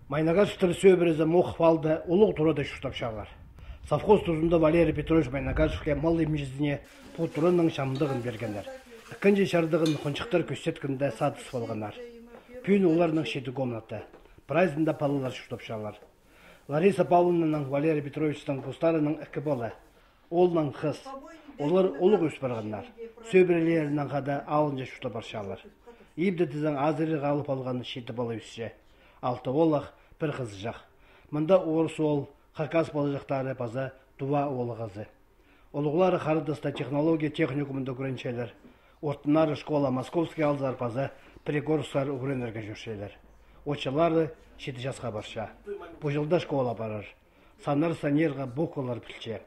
Майнагаш сөбірізі мұқпалды ұлық тұрады шүштапшалар. Совхоз тұзында Валерий Петрович Майнагашевке мал емжізіне пұтырының шамдығын бергендер. Ikkinchi шардығын қоншықтар көсеткінде садыс болғанар. Пүйін оларының шеті комнаты. Прайзында палылар шүштапшалар. Лариса Павловнаның Валерий Петровичтің бұстарының үкі болы. Олның қыз. Олар ұлық өс барғанар. Сөбірелерінің қада алынжа шүштапаршалар. Ибді тізің азыры қалып алған шеті болы өсше. Алты олық бір қыз жақ. Мұнда орыс ол, қақас болы жақтары база дуа олы қызы. Олығылары қарыдыста технология техникумында көріншелер. Ортынары школа Московский алзар база Пригорскар үгіренерге жүршелер. Очылары 7 жасқа барша. Бұл жылда школа барар. Санар санерға бұқылар білче.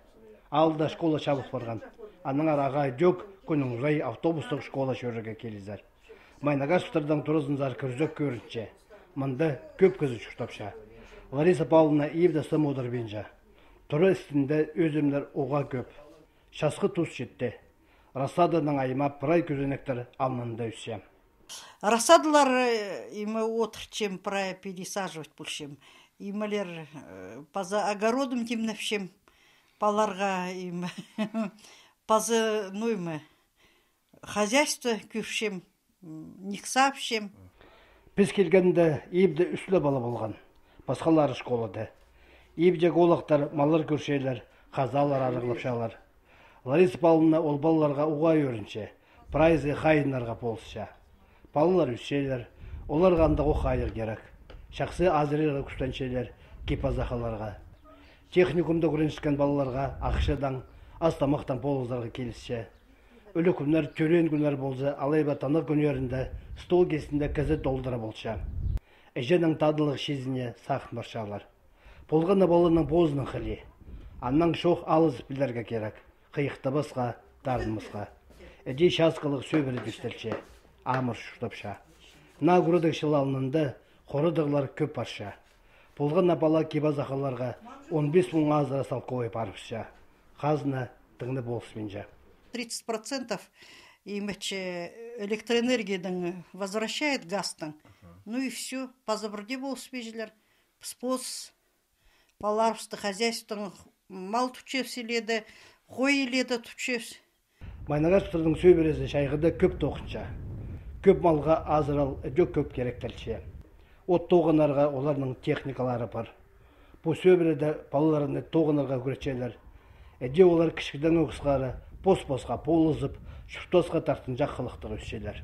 Алда школа шабық барған. Аныңар ағай дөк күнің рай автобустық школа шөріге келізер. Майнагашевтардан тұрызынзар күрзөк көрінше. Мында көп көзі шүштапша. Лариса Павловна евді сым одыр бенжа. Тұры істінде өзімдер оға көп. Шасқы тұз жетті. Рассаданың айыма прай көзінектер алнында өсем. Рассадалар имы отырчем, прай пересаживать бұлшем. Ималер паза огородым темневшем. Паларға имы паза, хозяйство көпшем, никсапшем. Біз келгенде ебді үслі бала болған. Басқалары школады. Ебдегі олақтар, малар көршейлер, қазалар арығылапшалар. Лариса Павловна ол балаларға ұғай өрінше, прайзы қайынларға болсыша. Балалар үсшейлер, оларға андығы қайыр керек. Шақсы азырыға күстеншейлер, кепазақаларға. Техникумда көріншкен балаларға ақшадан, астамақтан болызарға келісше. Өлі күнлер, төрен күнлер болсы, алайба танық күнерінде стол кесінде кізі долдыра болша. Әженің тадылық шезіне сақын баршалар. Болғаны балының бозының қылы. Аннан шоқ алыз білдерге керек. Қиықты басқа, дарынымызға. Әже шасқылық сөбірі дүстелше. Амыр шүштапша. На күрідік шылалынында қорыдығылар көп барша. Болғаны бала кебазақаларға 15 мың азыра салқой барыпша. Қазына дыңны болсыменжа. 30% электроэнергиядан возвращает гастан. Ну и все. Позабырде болспежлер. Спос, паларвсты хозяйствоның мал тучевселеді, қой еледі тучевс. Майнагашевтардың сөйбересі шайғыда көп тоқынша. Көп малға азырал, жөк көп керектелше. От тоғынарға оларының техникалары бар. Бұл сөйбереді балаларыны тоғынарға көретшелер. Әде олар кішкіден өкісқары, бос-босқа полызып, шүртосқа тартын жаққылықтығы өсшелер.